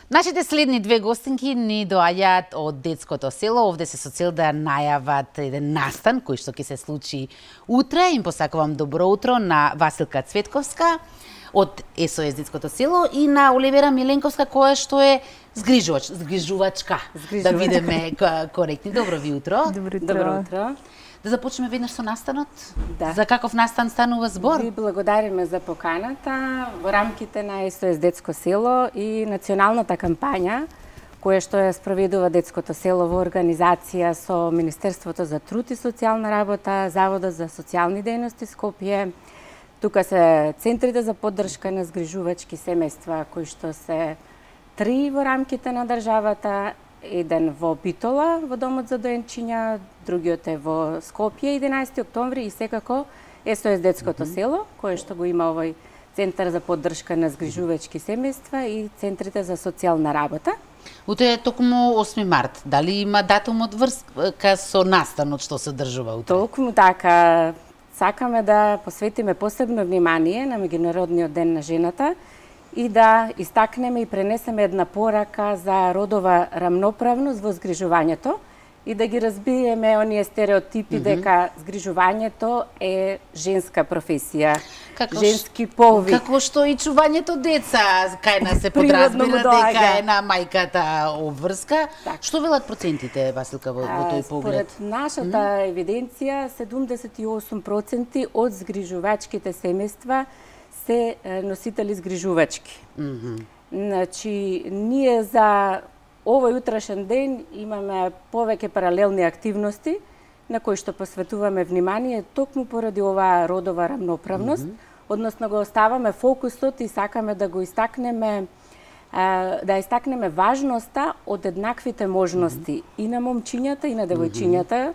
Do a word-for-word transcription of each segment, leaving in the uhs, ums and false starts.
Нашите следни две гостинки ни доаѓаат од детското село. Овде се со цел да најават еден настан кој што ќе се случи утре. Им посакувам добро утро на Василка Цветковска од ес о ес детското село и на Оливера Миленковска која што е згрижувач, згрижувачка. Да бидеме коректни. Добро ви утро. Добро утро. Добро утро. Да започнеме веднаш со настанот? Да. За каков настан станува збор? Ви благодариме за поканата во рамките на ес о ес детско село и националната кампања која што ја спроведува детското село во организација со Министерството за труд и социјална работа, Заводот за социјални дејности Скопје. Тука се центрите за поддршка на згрижувачки семејства кои што се три во рамките на државата, еден во Битола, во Домот за доенчиња, другиот е во Скопје, единаесети октомври и секако ес о ес детското mm -hmm. село, кое што го има овој Центар за поддршка на згрижувачки семејства и центрите за социјална работа. Утре е токму осми март. Дали има датум од врска со настанот што се одржува утре? Токму така. Сакаме да посветиме посебно внимание на Меѓународниот ден на жената и да истакнеме и пренесеме една порака за родова рамноправност во згрижувањето и да ги разбиеме оние стереотипи mm -hmm. дека згрижувањето е женска професија, како женски полви. Како што и чувањето деца, кај нас се подразбира дека е на мајката обврска. Так. Што велат процентите, Василка, во, во тој поглед? Според нашата mm -hmm. евиденција, седумдесет и осум проценти од згрижувачките семејства се носители згрижувачки. Mm -hmm. Значи, ние за овој утрешен ден имаме повеќе паралелни активности на кои што посветуваме внимание токму поради оваа родова рамноправност, mm -hmm. односно го оставаме фокусот и сакаме да го истакнеме да истакнеме важноста од еднаквите можности mm -hmm. и на момчињата и на девојчињата mm -hmm.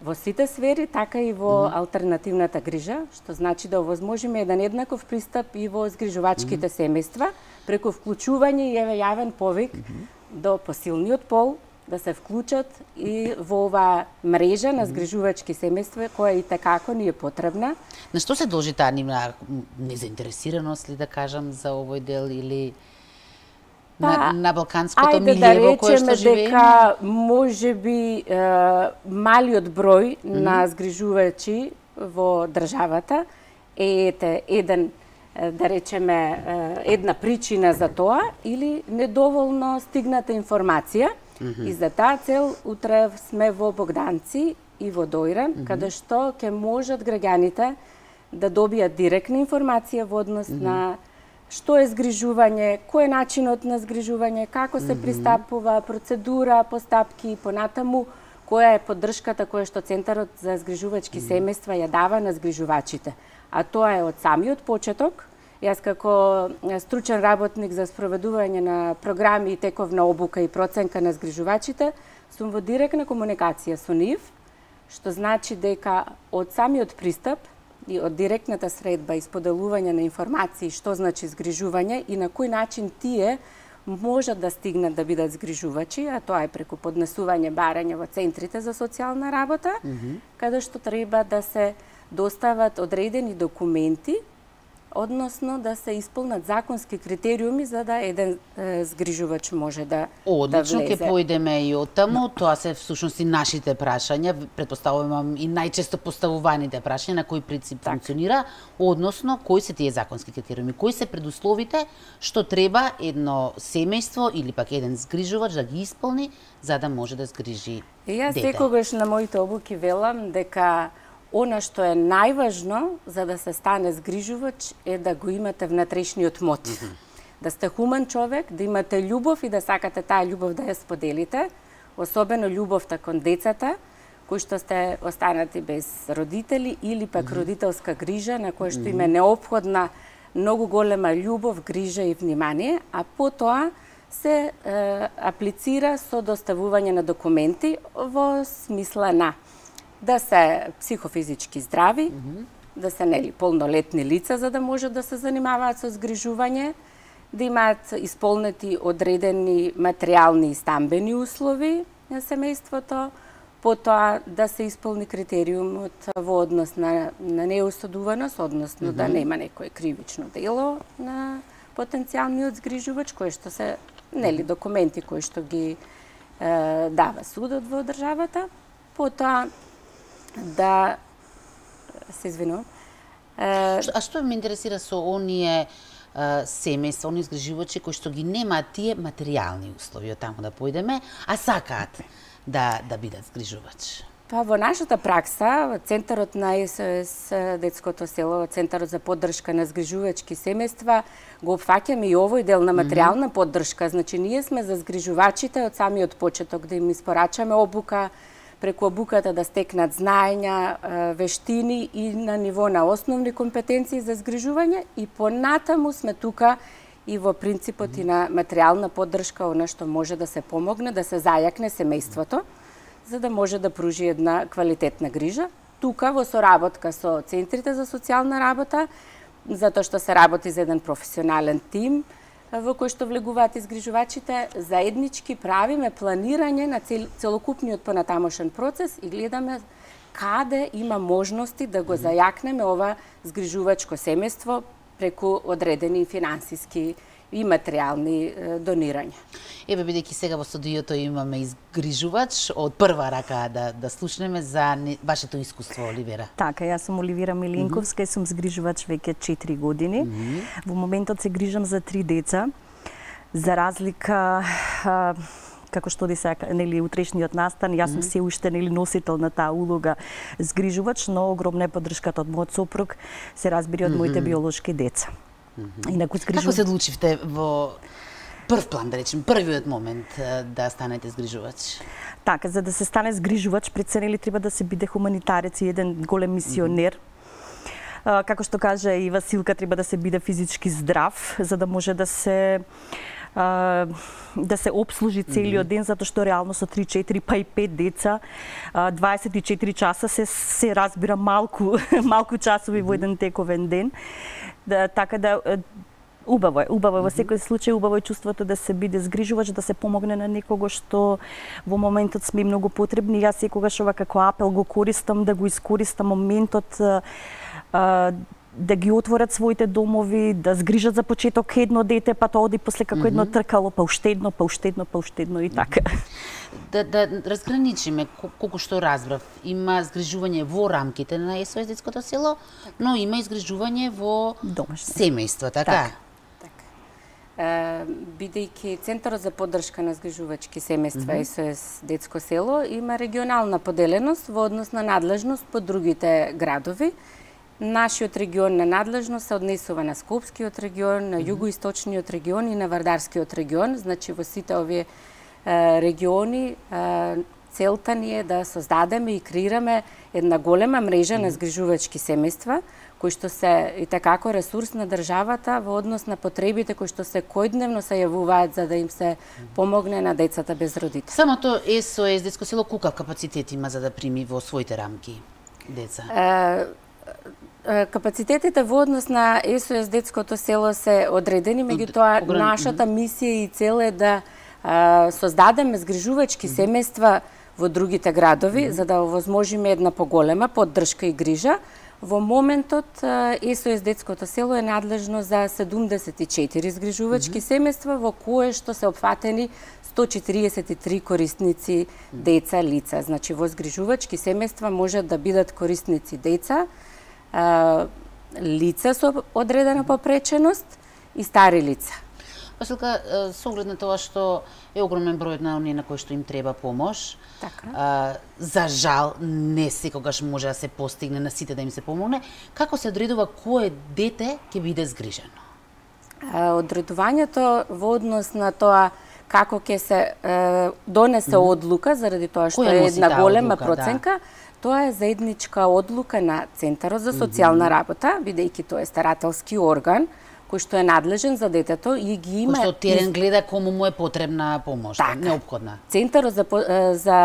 во сите сфери, така и во mm -hmm. алтернативната грижа, што значи да овозможиме еден еднаков пристап и во згрижувачките mm -hmm. семејства, преку вклучување и јавен повик mm -hmm. до посилниот пол да се вклучат и во оваа мрежа на згрижувачки семејства која и такако ни е потребна. На што се должи таа нивна незаинтересираност ли да кажам за овој дел или па, на, на балканското милие во кое што живееме? Дека може би е, малиот број mm -hmm. на згрижувачи во државата е ете, еден да речеме една причина за тоа или недоволно стигната информација mm -hmm. и за таа цел утре сме во Богданци и во Дојран, mm -hmm. каде што ќе можат граѓаните да добијат директна информација во однос mm -hmm. на што е згрижување, кој е начинот на згрижување, како се mm -hmm. пристапува, процедура, постапки и понатаму, која е поддршката која што Центарот за згрижувачки mm -hmm. семејства ја дава на згрижувачите. А тоа е од самиот почеток. Јас како стручен работник за спроведување на програми и тековна обука и проценка на згрижувачите, сум во директна комуникација со нив, што значи дека од самиот пристап и од директната средба и споделување на информации што значи згрижување и на кој начин тие можат да стигнат да бидат згрижувачи, а тоа е преку поднесување барање во центрите за социјална работа, mm -hmm. каде што треба да се достават одредени документи, односно да се исполнат законски критериуми за да еден е, згрижувач може да Одлично, да влезе. ќе поидеме и од таму, тоа се всушност и нашите прашања, претпоставувам и најчесто поставуваните прашања на кој принцип так. функционира, односно кои се тие законски критериуми, кои се предусловите што треба едно семејство или пак еден згрижувач да ги исполни за да може да згрижи и јас дете. секогаш на моите обуки велам дека она што е најважно за да се стане згрижувач е да го имате внатрешниот мотив. Mm -hmm. Да сте хумен човек, да имате љубов и да сакате таа љубов да ја споделите, особено љубовта кон децата, кои што сте останати без родители или пак mm -hmm. родителска грижа на која што им е неопходна многу голема љубов, грижа и внимание, а потоа се е, аплицира со доставување на документи во смисла на да се психофизички здрави, mm -hmm. да се нели полнолетни лица за да можат да се занимаваат со згрижување, да имаат исполнети одредени материјални и стамбени услови на семејството, потоа да се исполни критериумот во однос на, на неосудуваност, односно mm -hmm. да нема некој кривично дело на потенцијалниот згрижувач, кој што се нели документи кои што ги е, дава судот во државата, потоа да се извинувам. А што ме интересира со оние семејства, оние згрижувачи кои што ги немаат тие материјални услови, од таму да појдеме, а сакаат да да бидат згрижувач? Па во нашата пракса, Центарот на Е С О С Детското село, Центарот за поддршка на згрижувачки семејства, го опфаќаме и овој дел на материјална поддршка. Значи, ние сме за згрижувачите од самиот почеток, да им испорачаме обука, преку обуката да стекнат знаења, вештини и на ниво на основни компетенции за згрижување, и понатаму сме тука и во принципот и на материјална поддршка, она што може да се помогне, да се зајакне семејството, за да може да пружи една квалитетна грижа. Тука во соработка со центрите за социјална работа, затоа што се работи за еден професионален тим, во кој што влегуваат изгрижувачите, заеднички правиме планирање на цел, целокупниот понатамошен процес и гледаме каде има можности да го зајакнеме ова згрижувачко семејство преку одредени финансиски и материјални донирања. Еве, бидејќи сега во студиото имаме изгрижувач, од прва рака да да слушнеме за не, вашето искуство, Оливера. Така, јас сум Оливера Миленковска mm -hmm. и сум згрижувач веќе четири години. Mm -hmm. Во моментот се грижам за три деца. За разлика а, како што ди се, нели, утрешниот настан, јас сум mm -hmm. се уште, нели, носител на таа улога згрижувач, но огромна е поддршката од мојот сопруг, се разбира од mm -hmm. моите биолошки деца. Mm -hmm. Инаку згрижу... Како се одлучивте во прв план, да речем, првиот момент да станете згрижувач? Така, за да се стане згрижувач, пред се, нели, треба да се биде хуманитарец и еден голем мисионер. Mm -hmm. Како што кажа и Василка, треба да се биде физички здрав, за да може да се да се обслужи целиот ден, затоа што реално со три, четири, па и пет деца, дваесет и четири часа се се разбира малку малку часови во еден тековен ден. Да, така да убаво е, убаво е во секој случај, убаво е чувството да се биде згрижувач, да се помогне на некого што во моментот сме многу потребни. Јас секогаш ова како апел го користам, да го искористам моментот а, да ги отворат своите домови, да згрижат за почеток едно дете, па тоа оди после како mm -hmm. едно тркало, па уште едно, па уште едно, па уште едно и така. Да, да разграничиме, колку што разбрав, има згрижување во рамките на Е С О С Детското село, но има и згрижување во домашно семејство, така? Так. Так. Е, бидејќи Центарот за поддршка на згрижувачки семејства mm -hmm. Е С О С Детско село има регионална поделеност во однос на надлежност по другите градови. Нашиот регион на надлежност се однесува на Скопскиот регион, на југоисточниот регион и на Вардарскиот регион. Значи, во сите овие е, региони е, целта ни е да создадеме и креираме една голема мрежа на згрижувачки семејства, кои што се и такако ресурс на државата во однос на потребите кои што се којдневно се јавуваат за да им се помогне на децата без родители. Самото Е С О С Детско село колку капацитет има за да прими во своите рамки деца? Е, Капацитетите во однос на Е С О С Детското село се одредени, меѓутоа нашата мисија и цел е да а, создадеме згрижувачки семејства во другите градови, mm -hmm. за да овозможиме една поголема поддршка и грижа. Во моментот Е С О С Детското село е надлежно за седумдесет и четири згрижувачки mm -hmm. семејства, во кое што се опфатени сто четириесет и три корисници деца, лица. Значи, во згрижувачки семејства можат да бидат корисници деца, лица со одредена попреченост и стари лица. Василка, со оглед на тоа што е огромен број на оние на кои што им треба помош, така. а, за жал не секогаш може да се постигне на сите да им се помогне, како се одредува кое дете ќе биде згрижено? Одредувањето во однос на тоа како ќе се е, донесе mm -hmm. одлука, заради тоа што е една голема одлука, проценка, да. Тоа е заедничка одлука на Центарот за социјална работа, бидејќи тоа е старателски орган кој што е надлежен за детето и ги има... Кој што терен гледа кому му е потребна помош, така, неопходна. Центарот за, за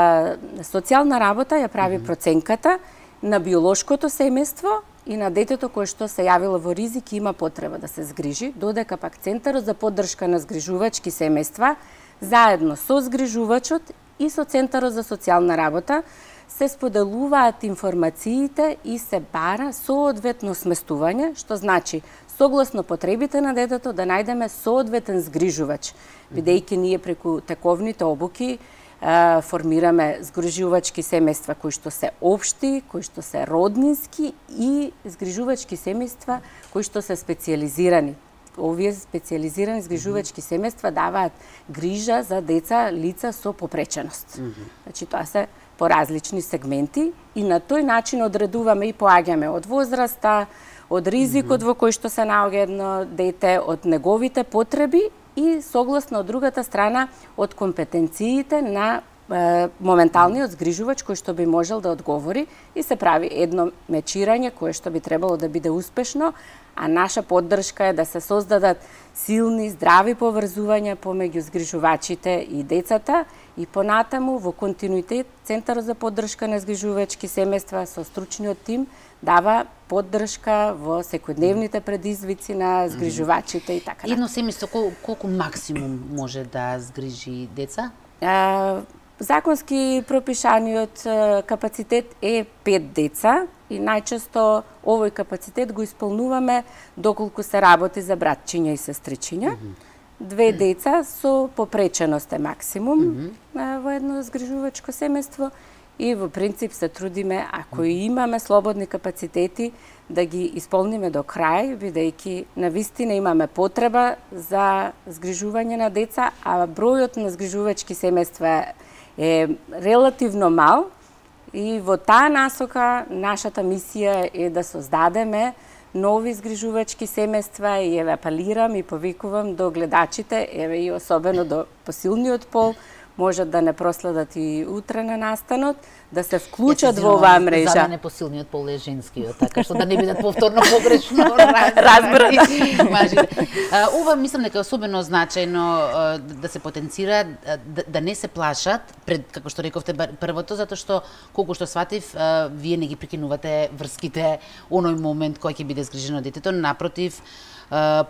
социјална работа ја прави mm -hmm. проценката на биолошкото семејство и на детето кое што се јавило во ризик и има потреба да се згрижи, додека пак Центарот за поддршка на згрижувачки семејства заедно со згрижувачот и со Центарот за социјална работа се споделуваат информациите и се бара соодветно сместување, што значи согласно потребите на детето да најдеме соодветен згрижувач, бидејќи ние преку тековните обуки а, формираме згрижувачки семејства кои што се општи, кои што се роднински и згрижувачки семејства кои што се специјализирани. Овие специјализирани згрижувачки семејства даваат грижа за деца лица со попреченост. Mm -hmm. Значи тоа се по различни сегменти и на тој начин одредуваме и поаѓаме од возраста, од ризикот mm -hmm. во кој што се наоѓа едно дете, од неговите потреби и согласно од другата страна од компетенциите на е, моменталниот згрижувач кој што би можел да одговори и се прави едно мечирање кое што би требало да биде успешно, а наша поддршка е да се создадат силни, здрави поврзувања помеѓу згрижувачите и децата и понатаму во континуитет Центарот за поддршка на згрижувачки семејства со стручниот тим дава поддршка во секојдневните предизвици на згрижувачите и така. Едно семејство кол, колку максимум може да згрижи деца? А, законски пропишаниот капацитет е пет деца и најчесто овој капацитет го исполнуваме доколку се работи за братчиња и сестричиња. Mm -hmm. Две деца со попреченост е максимум mm -hmm. во едно згрижувачко семејство и во принцип се трудиме, ако и имаме слободни капацитети, да ги исполниме до крај, бидејќи навистина имаме потреба за згрижување на деца, а бројот на згрижувачки семејства е релативно мал и во таа насока нашата мисија е да создадеме нови згрижувачки семејства и еве апелирам и повикувам до гледачите, еве и особено до посилниот пол, можат да не проследат и утре на настанот, да се вклучат во оваа мрежа. За мене посилниот пол е женскиот, така што да не бидат повторно погрешно разбрани. Ова мислам дека е особено значајно да се потенцира, да, да не се плашат пред, како што рековте првото, затоа што колку што сватив, вие не ги прекинувате врските оној момент кој ќе биде згрижено детето, напротив,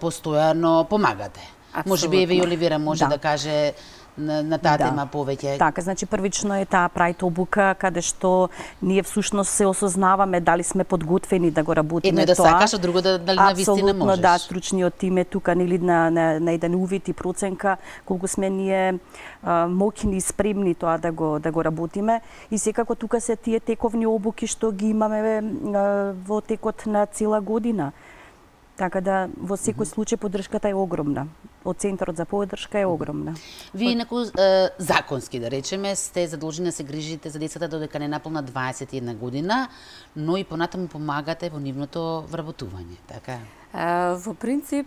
постојано помагате. Можеби еве Оливера може да, да каже на, на таа да. тема повеќе. Така, значи првично е таа прајт обука каде што ние всушност се осознаваме дали сме подготвени да го работиме тоа. Едно е да тоа. сакаш, а друго да дали навистина можеш. Апсолутно да, стручниот тим е тука нели на на, на еден увид и проценка колку сме ние а, моќни и спремни тоа да го да го работиме и секако тука се тие тековни обуки што ги имаме а, во текот на цела година. Така да во секој случај поддршката е огромна. Од Центарот за поддршка е огромна. Вие инаку е, законски да речеме сте задолжени да се грижите за децата додека не наполна дваесет и една година, но и понатаму помагате во нивното вработување, така? Во принцип,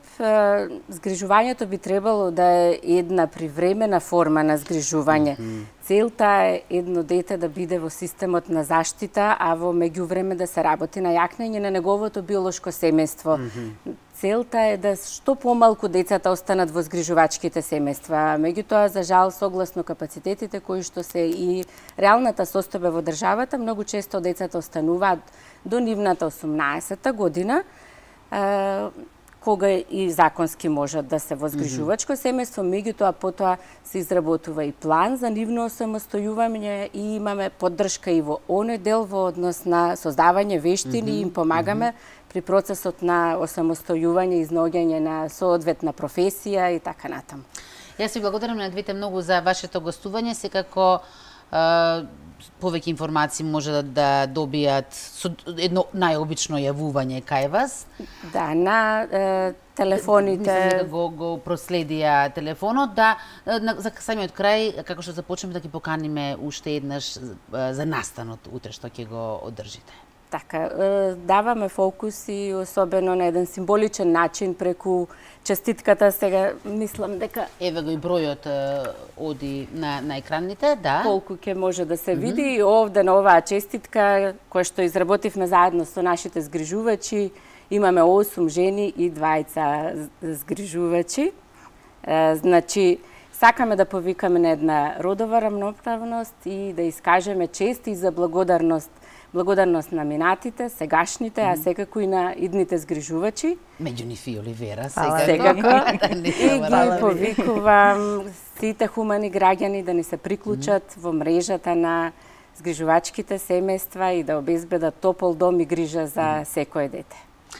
згрижувањето би требало да е една привремена форма на згрижување. Mm -hmm. Целта е едно дете да биде во системот на заштита, а во меѓувреме да се работи на јакнење на неговото биолошко семејство. Mm -hmm. Целта е да што помалку децата останат во згрижувачките семејства. Меѓутоа, за жал, согласно капацитетите кои што се и реалната состојба во државата, многу често децата остануваат до нивната осумнаесета година, кога и законски можат да се во згрижувачко семејство, меѓутоа потоа се изработува и план за нивно осамостојување и имаме поддршка и во оној дел во однос на создавање вештини и им помагаме при процесот на осамостојување и изнаоѓање на соодветна професија и така натаму. Јас ви благодарам на двете многу за вашето гостување, секако Uh, повеќе информации може да, да добијат со едно најобично јавување кај вас. Да, на е, телефоните... Мислам дека го, го проследија телефонот, да, на, за самиот крај, како што започнеме да ги поканиме уште еднаш за настанот утре што ќе го одржите. Така, даваме фокус и особено на еден символичен начин преку честитката, сега мислам дека... Еве го и бројот оди на, на екраните, да. Колку ќе може да се види mm -hmm. и овде на оваа честитка, која што изработивме заедно со нашите згрижувачи, имаме осум жени и двајца згрижувачи. Значи, сакаме да повикаме на една родова рамноправност и да искажеме чест и за благодарност Благодарност на минатите, сегашните, а секако и на идните згрижувачи. Меѓу нив и Оливера, секако. Секако. И ги повикувам сите хумани граѓани да ни се приклучат mm -hmm. во мрежата на згрижувачките семејства и да обезбедат топол дом и грижа за секое дете.